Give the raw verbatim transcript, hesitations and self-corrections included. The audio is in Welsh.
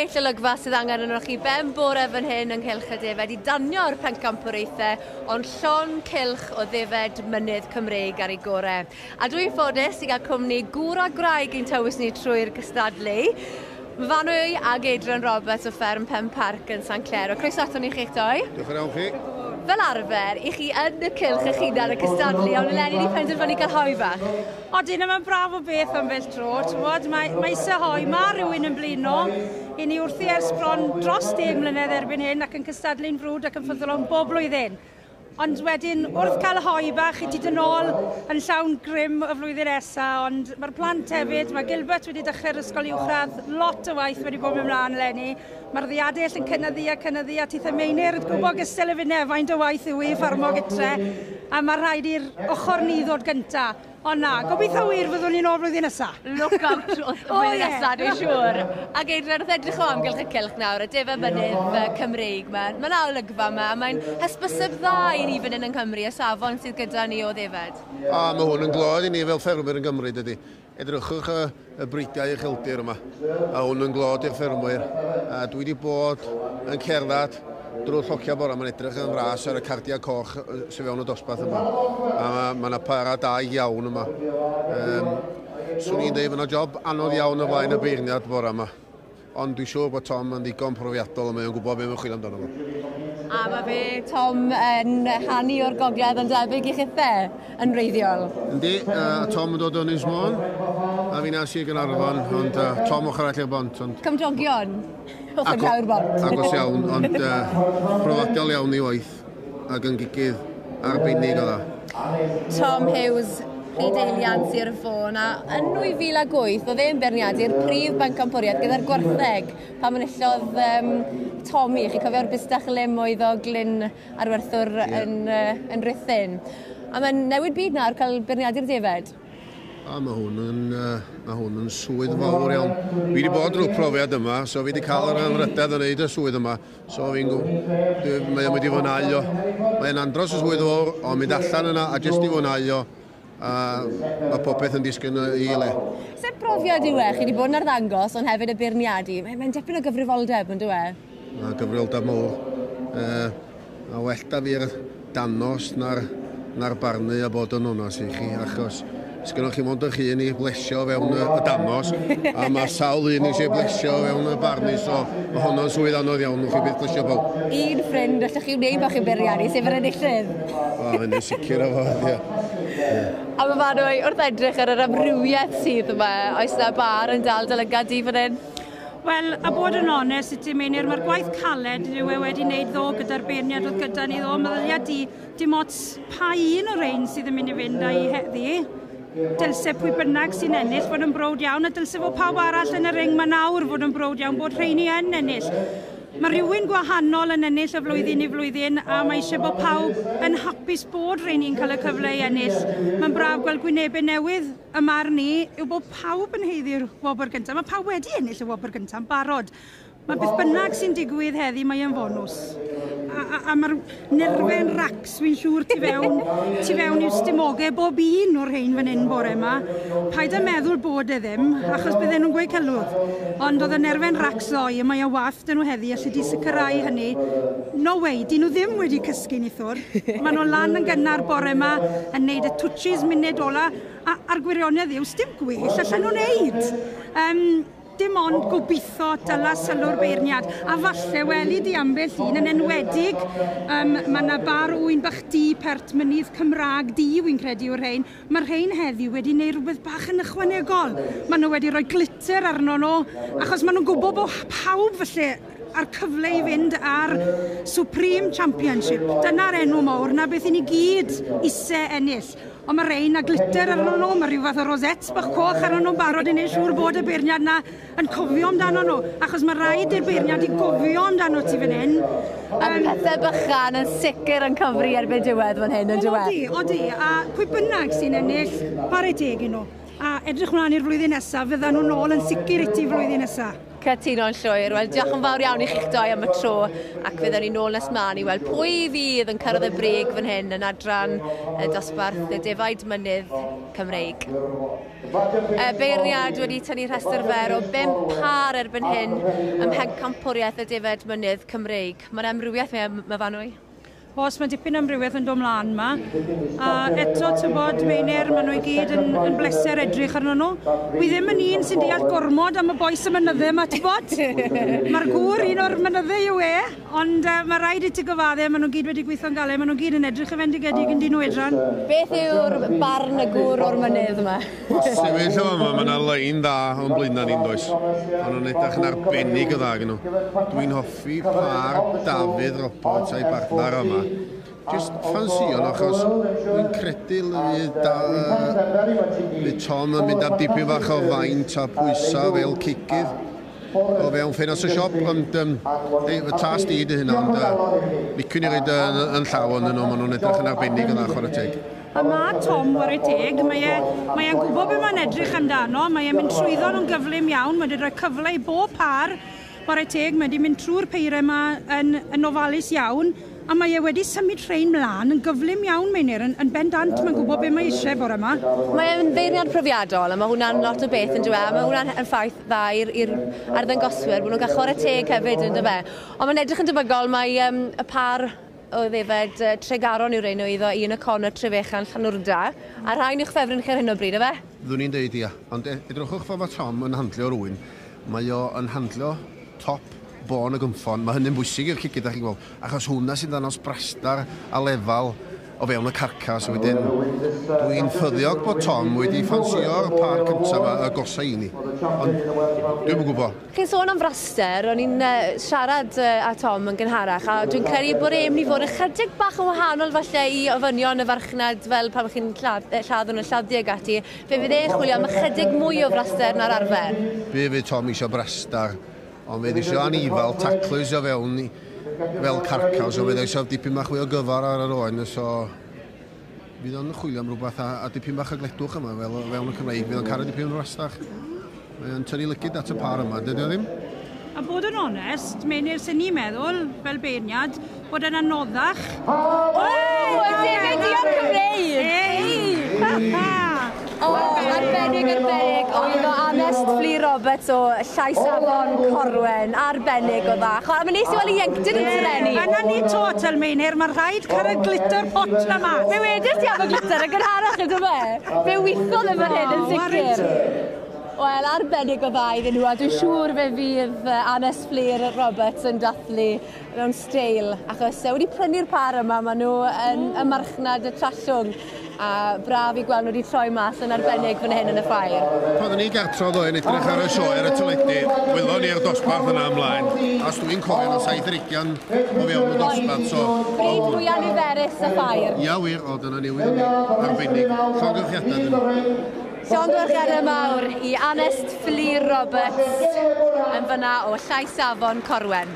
Well olygfa sydd angen arnoch chi ben bore fan hyn yng nghylch y defed i danio'r pencampwriaethau, ond llon cylch o ddefed mynydd Cymreig ar ei gorau. A dwi'n ffodus i gael cwmni gŵr a gwraig i'n tywys ni trwy'r gystadlu. Myfanwy ag Adrian Roberts o fferm Penparc yn Sanclêr. Croeso aton ni chi'ch doi. Diolch yn iawn chi. Fel arfer, i chi yn y cylch eich hunan y cystadlu, ond eleni ni penderfynu cael hoe bach. Odyn, mae'n braf o beth am fel tro. T'mod, mae, mae eisiau hoe, mae rhywun yn blino. I ni wrthi ers bron dros deg mlynedd erbyn hyn ac yn cystadlu'n frwd ac yn ffyddlon bob blwyddyn. Ond wedyn, wrth cael hoe bach, i ti dod nôl yn llawn grym y flwyddyn nesa, ond mae'r plant hefyd, mae Gilbert wedi dechrau'r ysgol uwchradd, lot o waith wedi bod ymlaen eleni. Mae'r ddiadell yn cynyddu a cynyddu, a tithe Meinir yn gwybod gystal y finne, faint o waith yw i ffarmo gytre, a mae rhaid i'r ochr ni ddod gynta. Ond na, gobeithio wir fyddwn ni'n ôl flwyddyn nesa. Look out wrth y flwyddyn nesa, dwi'n siŵr. Ac Adrian, wrth edrych o amgylch y cylch nawr, y defed mynydd Cymreig yma, mae yna olygfa yma, a mae'n hysbyseb dda i ni fan hyn yng Nghymru, y safon sydd gyda ni o ddefed. A mae hwn yn glod i ni fel ffermwyr yn Gymru, dydy. Edrychwch y, y bridiau ucheldir yma, a hwn yn glod i'r ffermwyr. A dwi wedi bod yn cerdded drwy'r llocia bora, mae'n edrych yn fras ar y cardiau coch sydd fewn y dosbarth yma. A mae yna para da iawn yma. Um, swn i'n dweud, mae yna job anodd iawn o flaen y beirniad bora yma. Ond dwi'n siŵr bod Tom yn ddigon profiadol a mae o'n gwybod beth mae'n chwilio amdano fo. A mae fe, Tom, yn hanu o'r gogledd yn debyg i chithe yn wreiddiol. Yndi, uh, Tom yn dod o Ynys Môn, a fi'n Sir Gaernarfon, ond uh, Tom ochr arall i'r bont. Ond Cymdogion, ochr draw i'r bont. Agos iawn, ond uh, profiadol iawn i waith ac yn gigydd arbennig o dda. Tom Hughes, Rhyd Eilian Sir Fôn, a yn nwy fil ag wyth oedd e'n beirniadu'r prif bencampwriaeth gyda'r gwartheg pan enillodd um, Tommy, chi'n cofio'r bustach lim oedd o Glyn Arwerthwr yeah. yn, uh, yn Rhuthun. A mae'n newid byd nawr cael beirniadu'r defed. A mae hwn yn, uh, mae hwn yn swydd fawr iawn. Fi wedi bod drwy'r profiad yma, so fi wedi cael yr anrhydedd yn neud y swydd yma. So fi'n mae o'n mynd i fwynhau o. Mae'n andros o swydd fawr, ond mynd allan yna a jyst i fwynhau o. A mae popeth yn disgyn i le. Sut brofiad yw e? Chi wedi bod yn arddangos, ond hefyd y beirniadu. Mae'n mae dipyn o gyfrifoldeb, yn dyw e? Mae gyfrifoldeb mawr. Uh, a well da fi'r danos na'r, na'r barnu a bod yn onas i chi, achos sgynnoch chi mond eich hun i blesio fewn y, y danos, a mae sawl un eisiau blesio fewn y barnu, so mae honno'n swydd anodd iawn, chi byth blesio pawb. Un ffrind allwch chi wneud bach i'w beirniadu, sef yr enillydd. O, hynny'n sicr o fod, ie. A mae Myfanwy, wrth edrych ar yr amrywiaeth sydd yma, oes na bar yn dal dy lygad di fan hyn? Wel, a bod yn onest i ti, Meinir, mae'r gwaith caled yw e wedi wneud ddo gyda'r beirniad oedd gyda ni ddo. Meddylia di, dim ots pa un o'r rhain sydd yn mynd i fynd â'i heddi. Dylse pwy bynnag sy'n ennill fod yn browd iawn, a dylse fod pawb arall yn y ring ma nawr fod yn browd iawn bod rheini yn ennill. Mae rhywun gwahanol yn ennill o flwyddyn i flwyddyn, a mae eisiau bod pawb yn hapus bod rheini'n cael y cyfle i ennill. Mae'n braf gweld gwynebau newydd yma arni yw bod pawb yn haeddu'r wobr gyntaf. Mae pawb wedi ennill y wobr gyntaf yn barod. Mae beth bynnag sy'n digwydd heddi, mae e'n fonws. A, a, a mae'r nerfau'n racs, fi'n siŵr, tu fewn, tu fewn i'w stumogau bob un o'r rhain fan hyn bore yma. Paid â meddwl bod e ddim, achos bydden nhw'n gweud celwydd. Ond oedd y nerfau'n racs ddoe, a mae e wath dyn nhw heddi, allu di sicrhau hynny. No way, dyn nhw ddim wedi cysgu nithwr. Maen nhw lan yn gynnar bore yma, yn neud y touches munud ola, a, a'r gwirionedd yw, sdim gwell allan nhw'n neud. Um, Dim ond gobeithio dyla sylw'r beirniad. A falle weli di ambell un yn enwedig, um, mae yna bar ŵyn bach du pert mynydd Cymraeg du, wy'n credu yw'r rhain. Mae'r rhain heddiw wedi gwneud rhywbeth bach yn ychwanegol. Maen nhw wedi rhoi glitter arno nhw, achos maen nhw'n gwybod bod pawb falle a'r cyfle i fynd ar Supreme Championship. Dyna'r enw mawr, na beth i ni gyd ise ennill. Ond mae rhain a glitter arno nhw, mae rhyw fath o rosettes bach coch arno nhw'n barod i wneud siŵr bod y beirniad na yn cofio amdano nhw, achos mae rhaid i'r beirniad i gofio amdano ti fan hyn. A um, pethau bychan yn sicr yn cyfri erbyn diwedd fan hyn, yn diwedd. Odi, odi, a pwy bynnag sy'n ennill, chwarae teg i nhw. A edrych mlaen i'r flwyddyn nesaf, fyddan nhw'n ôl yn sicr i ti flwyddyn nesaf. Cytuno'n llwyr. Wel, diolch yn fawr iawn i chi'ch doi am y tro, ac fyddwn ni nôl nes mlaen i weld pwy fydd yn cyrraedd y brig fan hyn yn adran y dosbarth y defaid mynydd Cymreig. Y beirniad wedi tynnu rhestr fer o bump pâr erbyn hyn ym mhencampwriaeth y defaid mynydd Cymreig. Mae'n amrywiaeth Myfanwy. Oes, mae dipyn amrywiaeth yn dod mlaen yma. A eto, ti'n bod, Meinir, maen nhw i gyd yn, yn bleser edrych arno nhw. Wi ddim yn un sy'n deall gormod am y bois y mynyddau yma, ti'n bod? Mae'r gŵr un o'r mynyddau yw e, ond uh, mae rhaid i ti gyfadde, maen nhw gyd wedi gweithio'n galed, maen nhw gyd yn edrych yn fendigedig yn dyn nhw edran. Beth yw'r barn y gŵr o'r mynydd yma? Sefyll o yma, mae yna lein dda o'n blaenau ni'n does. Maen nhw'n edrych yn arbennig o dda gen nhw. Dwi'n hoffi pâr Dafydd Roberts a'i bartner yma. Just ffansio nhw, achos dwi'n credu fydd da, fydd Tom yn mynd am dipyn bach o faint a pwysau fel cigydd o fewn ffenast y siop, ond um, ei, y tas di dy hynna, ond uh, licwn i roed yn, yn llaw yn nhw, maen nhw'n edrych yn arbennig yn dda, chwarae teg. A mae Tom, ware teg, mae e'n mae e gwybod beth mae'n edrych amdano, mae e'n mynd trwyddo nhw'n gyflym iawn, mae wedi rhoi cyfle i bob par, ware teg, mae wedi mynd trwy'r peirau yma yn, yn ofalus iawn, a mae e wedi symud rhain mlaen yn gyflym iawn, Meinir, yn, yn bendant, mae'n gwybod beth mae eisiau bore yma. Mae e'n feirniad profiadol, a mae hwnna'n lot o beth yn dweud, a mae hwnna'n yn ffaith dda i'r i'r arddangoswyr, bod nhw'n cael chwarae teg hefyd yn dyfe. Ond mae'n edrych yn debygol, mae um, y par o ddefed uh, Tregaron yw'r un o iddo un y Connor Trefechan Llanwrda, a rhain i'ch ffefryn chi ar hyn o bryd, efe? Ddwn i'n deud ia, ond edrychwch ffordd mae Tom yn handlio rhywun, mae o yn handlio top bôn y gynffon, mae hynny'n bwysig i'r cigydd, chi'n gweld, achos hwnna sy'n dangos brastar a lefal o fewn y carcas. Wedyn, dwi'n ffyddiog bod Tom wedi ffansio'r par cyntaf yma, y gosa i ni, ond dwi'm yn gwybod. Chi'n sôn am fraster, o'n i'n uh, siarad uh, â Tom yn gynharach, a dwi'n credu bod e'n mynd i fod ychydig bach yn wahanol falle i ofynion y farchnad fel pan chi'n lladd, lladd yn y lladdu ag ati. Fe fydd e'n chwilio am ychydig mwy o fraster na'r arfer. Fe fydd Tom eisiau brastar, ond fe eisiau anifal taclus o fewn i, fel carcas, ond fe eisiau dipyn bach fwy o gyfar ar yr oen, so fydd o'n chwilio am rhywbeth a, a dipyn bach o gledwch yma, fel fewn y Cymreig, fydd o'n caru dipyn o rastach. Mae o'n tynnu lygid at y par yma, dydy o ddim? A bod yn onest, Meinir, sy'n ni'n meddwl, fel beirniad, bod yn anoddach. O, y defaid duon Cymreig! Ei! O, arbennig, arbennig. Oedd o Anest Fflur Roberts o Llais Afon Corwen. Arbennig o dda. A mae'n neis i weld ieuenctid yn serennu. Yna ni to, tel Meinir, mae rhaid cael y glitter pot na mas. Fe wedys ti am y glitter yn gynharach, ydw fe? Fe weithodd e fan hyn yn sicr. Wel, arbennig o dda iddyn nhw, a dwi'n siŵr fe fydd Anest Fflur Roberts yn dathlu mewn steil, achos wedi prynu'r par yma, maen nhw yn y marchnad y Trallwng, a braf i gweld nhw wedi troi mas yn arbennig fan hyn yn y ffair. Pan oeddwn ni gartre ddoe yn edrych ar y sioe ar y teledu, welon ni'r dosbarth yna ymlaen, a os dwi'n cofio, o saith ar ugian o fewn y dosbarth, so... Bryd mwyaf niferus y ffair. Ia wir, o dyna newydd arbennig. Llongyfarchiadau dyn nhw. Llongyfarchiadau mawr i Anest Fflur Roberts yn fyna o Llais Afon Corwen.